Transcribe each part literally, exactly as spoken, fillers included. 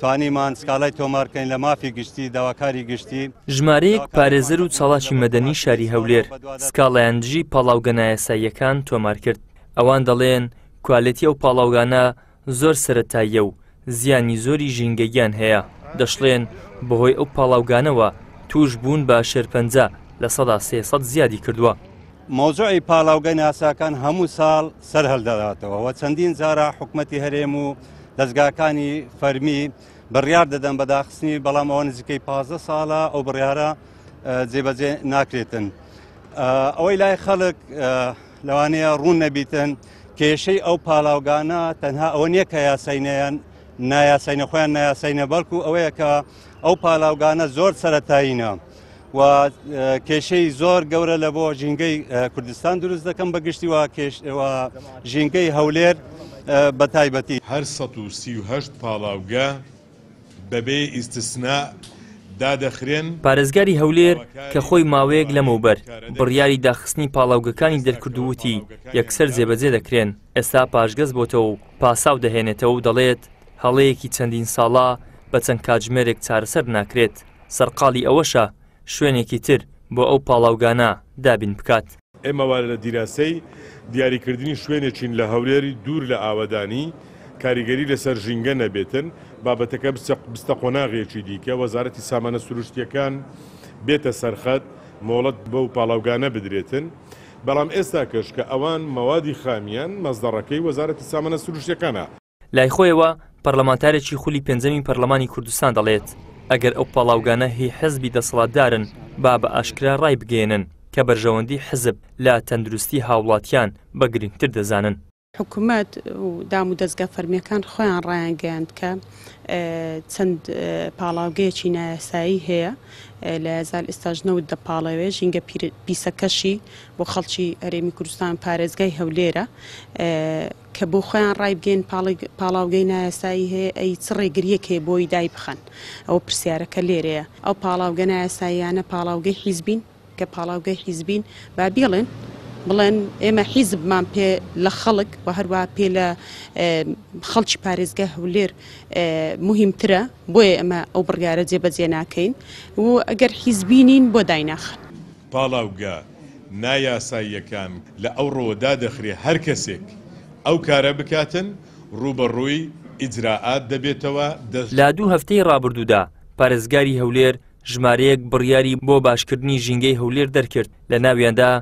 توانیمان سکاڵای تۆمارکەین لە مافی گشتی داواکاری گشتی. ژمارەیەک پارێزەر و چالاکی مەدەنی شاری هەولێر سکاڵایان دژی پاڵاوگە نایاساییەکان تۆمار کرد. ئەوان دەڵێن کوالێتی ئەو پاڵاوگانە زۆر سەرەتاییە و زیانی زۆری ژینگەییان هەیە. دەشڵێن بەهۆی ئەو پاڵاوگانەوە توش بوون بە شێرپەنجە لە سەدا سێ سەد زیادی کردووە. مەوزوعی پاڵاوگە ناساکان هەموو ساڵ سەر هەڵدەداتەوە و چەندین جارە حکومەتی هەرێم و دەستگاکانی فەرمی بڕیار دەدەن بەداخستنی، بەڵام ئەوە نزیکەی پازدە ساڵە ئەو بڕیارە جێبەجێ ناکرێتن. ئەوەی لای خەڵک لەوانەیە ڕوون نەبیتن کێشەی ئەو پاڵاوگانە تەنها ئەوە نییە کە یاساینەیان نایاساینە خۆیان نایاساینە، بەڵکو ئەوەیە کە ئەو پاڵاوگانە زۆر سەرەتایینە و کێشەی زۆر گەورە لە بۆ ژینگەی کوردستان دروست دەکەم بە گشتی و ژینگەی هەولێر بە تایبەتی. هەر سەد و سی و هەشت پاڵاوگە بەبێ ئیستسنا دادەخرێن. پارێزگاری هەولێر کە خۆی ماوەیەک لەمەوبەر بڕیاری داخستنی پاڵاوگەکانی دەرکردووتی یەکسەر جێبەجێ دەکرێن، ئێستا پاشگەز بۆتەوە و پاساو دەهێنێتەوە و دەڵێت هەڵەیەکی چەندین ساڵە بە چەند کاتژمێرێک چارەسەر ناکرێت. سەرقاڵی ئەوەشە شوێنێکی تر بۆ ئەو پاڵاوگانە دابین بکات. ئێمە وارە لە دیراسەی دیاریکردنی شوێنێکین لە هەولێری دوور لە ئاوەدانی کاریگەری لەسەر ژینگە نەبێتن، بابەتەکە بستە قۆناغێکی دیکە، وەزارەتی سامانە سروشتیەکان بێتە سەرخەت مۆڵەت بەو پاڵاوگانە بدرێتن. بەڵام ئێستا کەش کە ئەوان مەوادی خامیان مەزدەڕەکەی وەزارەتی سامانە سروشتیەکانە. لای خۆیەوە پەرلەمانتارێکی خولی پێنجەمی پەرلەمانی کوردستان دەڵێت ئەگەر ئەو پاڵاوگانە هی حزبی دەسەڵاتدارن با بە ئاشکرا ڕای بگەێنن کە بەرژەوەندی حزب لە تەندروستی هاوڵاتیان بە گرنگتر دەزانن. حکوومەت و دام و دەستگا فەرمیەکان خۆیان ڕایانگەیاند کە چەند پاڵاوگەیەکی نایاسایی هەیە لە زال ئێستاش نەوت دەپاڵەوێ، ژینگە پیسەکەشی بۆ خەڵکی هەرێمی کوردستان پارێزگای هەولێرە کە بۆ خۆیان ڕایبگەین پاڵاوگەی نایاسایی هەیە، ئەی چ ڕێگریەک هەیە بۆی دای بخەن؟ ئەو پرسیارەکە لێرەیە. ئەو پاڵاوگە نایاساییانە پاڵاوگەی حیزبین کە پاڵاوگەی حیزبین با بیڵێن بڵێن ئێمە حیزبمان پێ لە خەڵک و هەروە پێ لە خەڵکی پارێزگای هەولێر مهمترە، بۆیە ئەمە ئەو بڕیارە جێبەجێ ناکەین و ئەگەر حیزبینین بۆ دایناخن. پاڵاوگە نایاساییەکان لە ئەوڕۆوە دادەخرێ هەر کەسێک ئەو کارە بکاتن ڕووبەڕووی ئیجراعات دەبێتەوە. لە دوو هەفتەی ڕابردوودا پارێزگاری هەولێر ژمارەیەک بڕیاری بۆ باشکردنی ژینگەی هەولێر دەرکرد، لە ناویاندا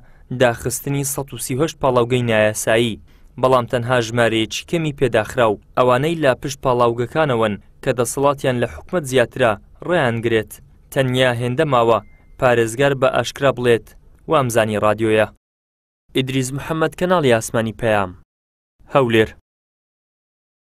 داخستنی سەد و سی و هەشت پاڵاوگەی نایاسایی، بەڵام تەنها ژمارەیەکی کەمی پێداخرا و ئەوانەی لە پشت پاڵاوگەکانەوەن کە دەسەڵاتیان لە حکومەت زیاترە ڕێیانگرێت. تەنیا هێندە ماوە پارێزگار بە ئاشکرا بڵێت وامزانی ڕادیۆیە. ئیدریس محەممەد، کەناڵی ئاسمانی پەیام، هەولێر.